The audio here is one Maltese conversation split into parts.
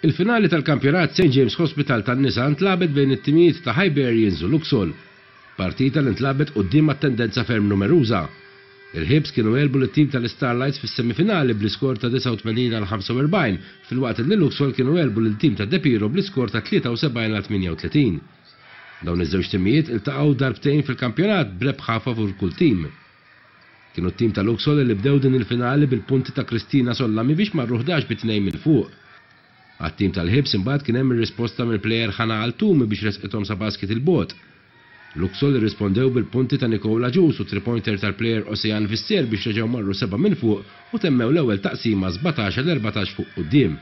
Il-finali tal-kampjonat St James Hospital tan-nisa ntlagħbet bejn it-timijiet ta' Hibernians u Luxol. Partita li ntlagħbet quddiem attendenza ferm numeruża. Il-Hibs kienu għelbu lit-tim tal-Istarlites fis-semifinali bl-iskor ta' 89 għal 45 filwaqt li Luxol kienu għelbu lil tim ta' Depiro bl-iskor ta' 73 għal 38. Dawn iż-żewġ timijiet iltaqgħu darbtejn fil-kampjonat b'rebħa favur kull tim. Kienu t-tim ta' Luxol li bdew din il-finali bil-punti ta' Kristina Sollami biex marru 11 bi tnejn minn fuq. Għat-tim tal-Hibs imbagħad kien hemm ir-risposta mill-plejer Hana Altumi biex resqithom sa basket 'il bogħod. Luxol irrispondew bil-punti ta' Nicole Agius u three-pointer tal-plejer Oceane Visser biex reġgħu marru sebgħa minn fuq u temmew l-ewwel taqsima 17 għal 14 fuq quddiem.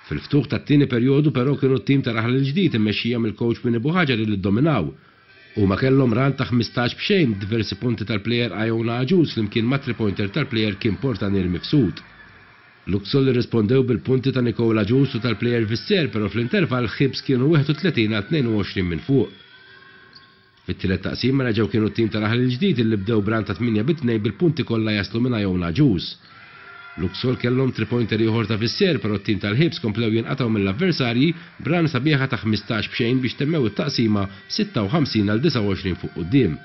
Fil-ftuħ tat-tieni perjodu però kienu t-tim ta' Raħal il-Ġdid immexxija mill-kowċ Winnie Buhaġar li ddominaw. Huma kellhom run ta' 15 b'xejn b'diversi punti tal-plejer Iona Agius flimkien ma' three-pointer tal-plejer Kim Portanier Mifsud. Luxol irrispondew bil-punti ta' Nicole Agius u tal-plejer Visser però fl-intervall Hibs kienu 31 għal 22 minn fuq. Fit-tielet taqsima reġgħu kienu t-tim ta' Raħal il-Ġdid illi bdew b'run ta' 8 bi tnejn bil-punti kollha jaslu minn Iona Agius. Luxol kellhom three-pointer ieħor ta' Visser però t-tim tal-Hibs komplew jinqatgħu mill-avversarji b'run sabiħa ta' 15 b'xejn biex temmew it-taqsima 56 għal 29 fuq quddiem.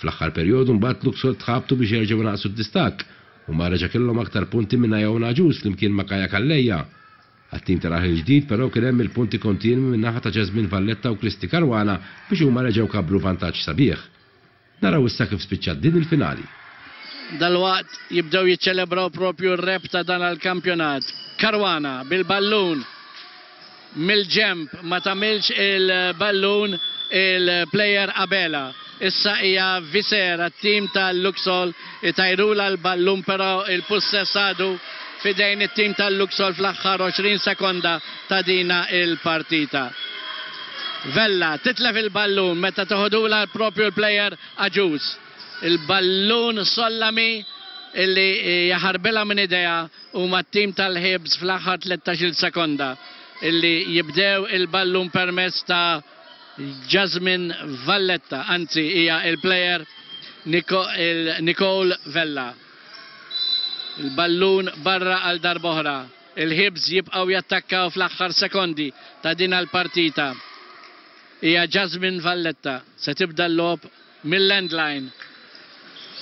Fl-aħħar perjodu mbagħad Luxol tħabtu biex jerġgħu inaqqsu d-distakk. Huma reġa' kellhom aktar punti minn Iona Agius flimkien ma' Kaya Calleja. Għat-tim ta' Raħel il-Ġdid però kien hemm il-punti kontinwi min-naħa ta' Jasmine Valletta u Christy Caruana biex huma reġgħu kabbru vantaġġ sabiħ. Naraw issa kif spiċċat din il-finali. Dalwaqt jibdew jiċċelebraw propju r-rebħ ta' dan l-kampjonat. Caruana bil-ballun mill-ġenb ma tagħmilx il-ballun il-plejer Abela. Issa hija Visera t-tim tal-Luxol itajrulha l-ballun però il-pussess għadu f'idejn it-tim tal-Luxol fl-aħħar 20 sekonda ta' dina il-partita. Vella titlef il-ballun meta toħodulha propju l-plejer Agius. Il-ballun Sollami illi jaħarbilha minn idejha huma t-tim tal-Hibs fl-aħħar 13-il sekonda illi jibdew il-ballun permezz ta' Jasmine Valletta, anzi hija il-plejer Nicole Vella. Il-ballun barra għal darb'oħra. Il-Hibs jibqgħu jattakkaw fl-aħħar sekondi ta' din l-partita. Hija Jasmine Valletta se tibda l-logħob mill-endline.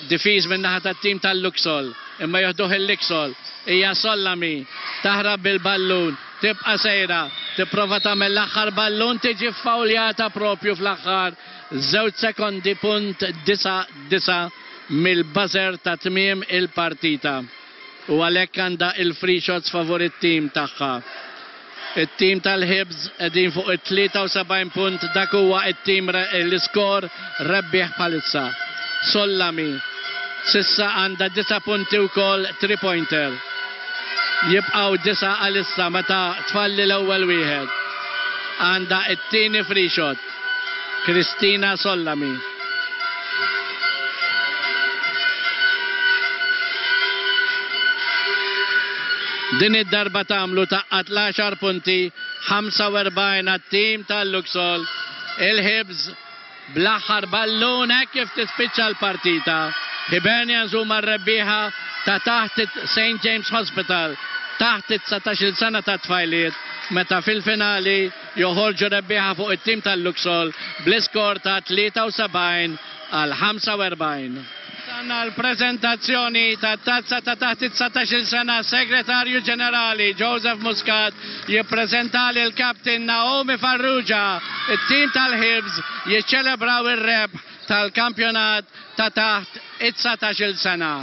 Difiż min-naħa tat-tim tal-Luxol, imma joħduh il-Luxol. Hija Sollami, taħrab bil-ballun, tibqa' sejra, tipprova tagħmel l-aħħar ballun tiġi ffawljata propju fl-aħħar żewġ sekondi punt disa' disa' mill-buzzer ta' tmiem il-partita. U għalhekk għandha il-free shots favur it-tim tagħha. It-tim tal-Hibs qegħdin fuq it-73 punt dak huwa it-tim l-iskor rebbieħ bħalissa. Sollami s'issa għandha disa' punti wkoll three pointer. Jibqgħu disa' għalissa meta tfalli l-ewwel wieħed. Għandha it-tieni free shot. Kristina Sollami. Din id-darba tagħmlu tgħaqqad l-għaxar punti, 45 għat-tim tal-Luxol. Il-Hibs bl-aħħar ballun hekk kif tispiċċa l-partita. Hibernians huma r-rebbieħa ta' taħt St James Hospital taħt it-19-il sena tat-tfajliet meta fil-finali joħorġu rebbieħa fuq it-tim tal-Luxol bl-iskor ta' 73 għal 45. Wasalna għall-preżentazzjoni tat-tazza ta' taħt it-19-il sena, Segretarju Ġenerali Joseph Muscat jippreżenta lill-Captain Naomi Farrugia. It-tim tal-Hibs jiċċelebraw ir-rebħ tal-kampjonat ta' taħt it-19-il sena.